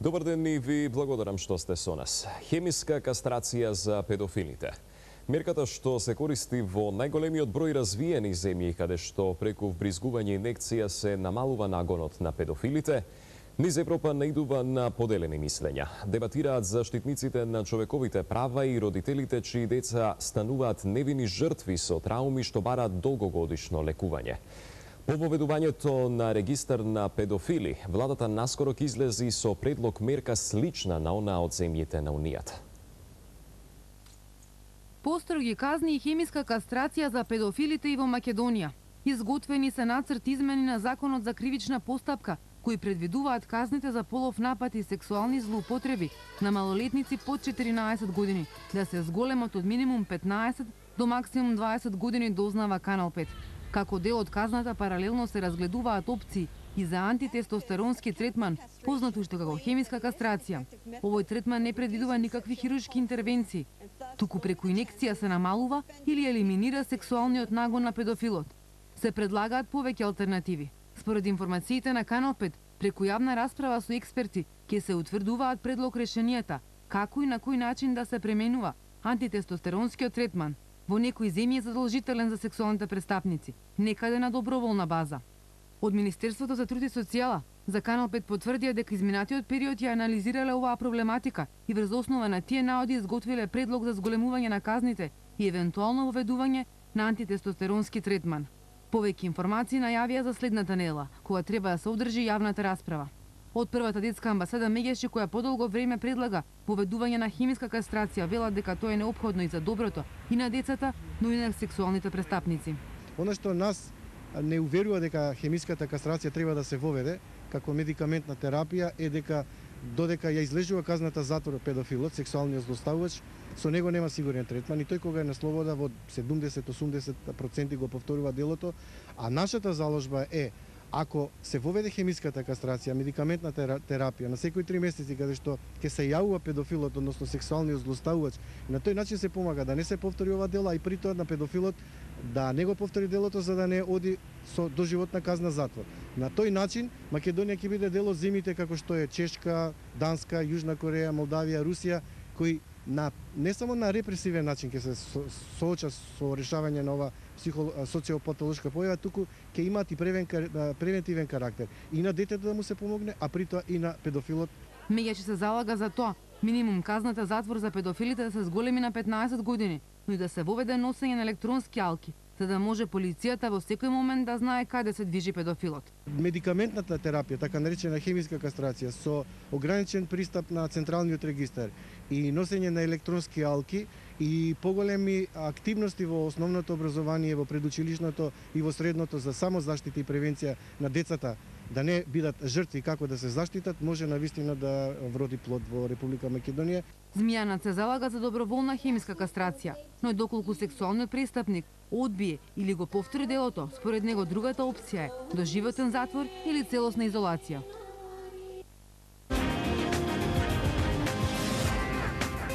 Добар ден и ви благодарам што сте со нас. Хемиска кастрација за педофилите. Мерката што се користи во најголемиот број развиени земји каде што преку вбризгување инекција се намалува нагонот на педофилите, низ Европа наидува на поделени мислења. Дебатираат заштитниците на човековите права и родителите чии деца стануваат невини жртви со трауми што бараат долгогодишно лекување. По воведувањето на регистар на педофили, владата наскоро ќе излези со предлог мерка слична на онаа од земјите на Унијата. Построги казни и хемиска кастрација за педофилите и во Македонија. Изготвени се нацрт измени на Законот за кривична постапка, кои предвидуваат казните за полов напад и сексуални злоупотреби на малолетници под 14 години да се зголемат од минимум 15 до максимум 20 години, дознава Канал 5. Како дел од казната паралелно се разгледуваат опции и за антитестостеронски третман, познат уште како хемиска кастрација. Овој третман не предвидува никакви хируршки интервенции, туку преку инекција се намалува или елиминира сексуалниот нагон на педофилот. Се предлагаат повеќе алтернативи. Според информациите на Канал 5, преку јавна расправа со експерти ќе се утврдуваат предлог решенијата, како и на кој начин да се пременува антитестостеронскиот третман. Во некои земји е задолжителен за сексуалните престапници, некаде на доброволна база. Од Министерството за труд и социјала за Канал 5 потврдија дека изминатиот период ја анализирале оваа проблематика и врз основа на тие наоди изготвиле предлог за зголемување на казните и евентуално воведување на антитестостеронски третман. Повеќе информации најавија за следната недела, кога треба да се одржи јавната расправа. Од првата детска амбасада Меѓеши, која подолго време предлага воведување на хемиска кастрација, велат дека тоа е неопходно и за доброто и на децата, но и на сексуалните престапници. Она што нас не уверува дека хемиската кастрација треба да се воведе како медикаментна терапија е дека додека ја излежува казната затвор педофилот, сексуалниот злоставувач, со него нема сигурен третман и тој кога е на слобода во 70-80% го повторува делото, а нашата заложба е ако се воведе хемиската кастрација, медикаментна терапија на секои 3 месеци каде што ќе се јавува педофилот, односно сексуалниот злоставувач, на тој начин се помага да не се повтори ова дело, а и при тоа на педофилот да не го повтори делото за да не оди со доживотна казна затвор. На тој начин Македонија ќе биде дел од земјите како што е Чешка, Данска, Јужна Кореја, Молдавија, Русија, кои не само на репресивен начин ќе се соочат со решавање на ова социопатолошка појава, туку ќе имаат и превентивен карактер. И на детето да му се помогне, а при тоа и на педофилот. Меѓаши се залага за тоа минимум казната затвор за педофилите да се зголеми на 15 години, но и да се воведе носење на електронски алки, за да може полицијата во секој момент да знае каде се движи педофилот. Медикаментната терапија, така наречена хемиска кастрација, со ограничен пристап на централниот регистар и носење на електронски алки и поголеми активности во основното образование, во предучилишното и во средното за самозаштита и превенција на децата да не бидат жртви како да се заштитат, може навистина да вроди плод во Република Македонија. Змијанат се залага за доброволна хемиска кастрација, но и доколку сексуалниот престапник одбие или го повтори делото, според него другата опција е доживотен затвор или целосна изолација.